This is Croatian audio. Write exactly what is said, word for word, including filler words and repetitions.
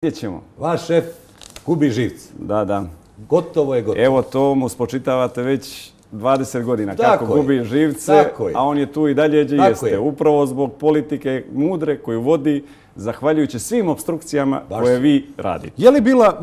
Vidjet ćemo. Vaš šef gubi živce. Da, da. Gotovo je gotovo. Evo to mu spočitavate već dvadeset godina Tako kako je. gubi živce, Tako je. a on je tu i dalje gdje Tako jeste. je. Upravo zbog politike mudre koju vodi, zahvaljujući svim opstrukcijama Baš. koje vi radite. Je li bila